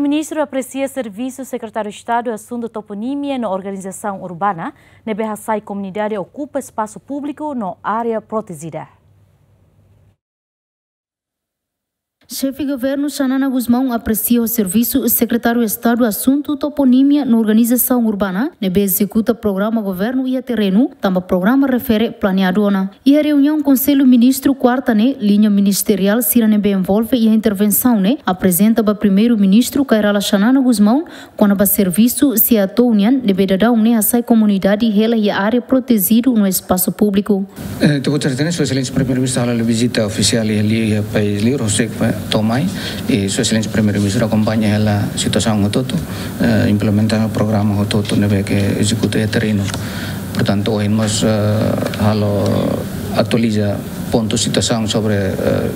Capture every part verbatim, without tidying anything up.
Ministru apresia servisu Sekretáriu Estadu Asuntu Toponímia no Organizasaun Urbana ne'ebé hasai komunidade okupa espasu públiku no área protejida. Xefe Governu Xanana Gusmão apresia ho servisu Sekretáriu Estadu Asuntu Toponímia no Organizasaun Urbana ne'ebé ezekuta programa governu iha terrenu, tanba programa refere planeadu ona. Iha reuniaun Konsellu Ministru kuarta ne'e, liña ministeriál sira ne'ebé envolve iha intervensaun ne'e aprezenta ba Primeiru-Ministru Kay Rala Xanana Gusmão kona-ba servisu SEATOU nian ne'ebé daudaun ne'e hasai komunidade hela iha área protejidu no espasu públiku. Eh, ita-boot sira hatene, Sua Exelénsia Primeiru-Ministru halo vizita ofisiál iha liur, iha país liur, husik ba to'o mai, i Sua Exelénsia Primeiru-Ministru akompaña hela situasaun hotu-hotu, eh, implementasaun programa hotu-hotu ne'ebé ke ezekuta iha terrenu. Portantu, ohin mós, eh, halo atualiza pontu situasaun sobre, eh,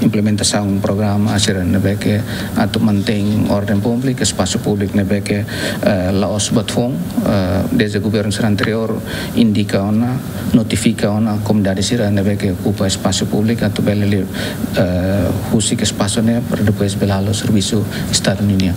implementasaun programa sira ne'ebé ke atu mantein orden públiku, espasu públiku ne'ebé ke, eh, la'ós buat foun, eh, dezde governu sira anteriór indika ona, notifika ona komunidade sira ne'ebé ke okupa espasu públiku atu bele liu, eh, husik espasu ne'e para depois bele halo servisu Estadu ninian.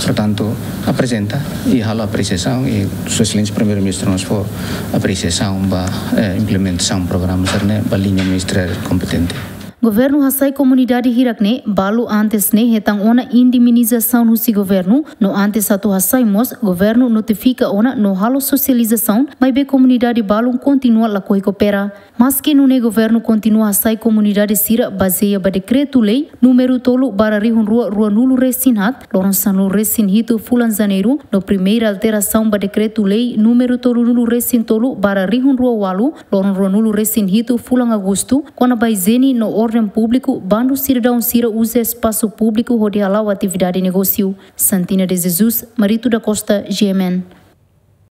Portantu, aprezenta i halo apresiasaun i Sua Exelénsia Primeiru-Ministru mós fó apresiasaun ba, eh, implementasaun programa sira-ne'e ba liña ministeriál kompetente. Governu hasai komunidade hirak ne'e, balu antes ne'e hetan ona indemnizasaun husi governu, no antes atu hasai mós, governu notifika ona no halo sosializasaun, maibé komunidade balun kontinua lakohi koopera. Maski nune'e governu kontinua hasai komunidade sira bazeia ba dekretu-lei númeru tolu barra rihun rua ruanulu resin haat, loron sanulu resin hitu fulan Janeiru, no primeira alterasaun ba dekretu-lei númeru tolunulu resin tolu barra rihun rua walu, loron ruanulu resin hitu fulan Agostu, kona-ba ijiene no orden públiku, bandu sidadaun sira uza espasu públiku hodi hala'o atividade negósiu. Santina de Jesus, Marito da Costa, G M N.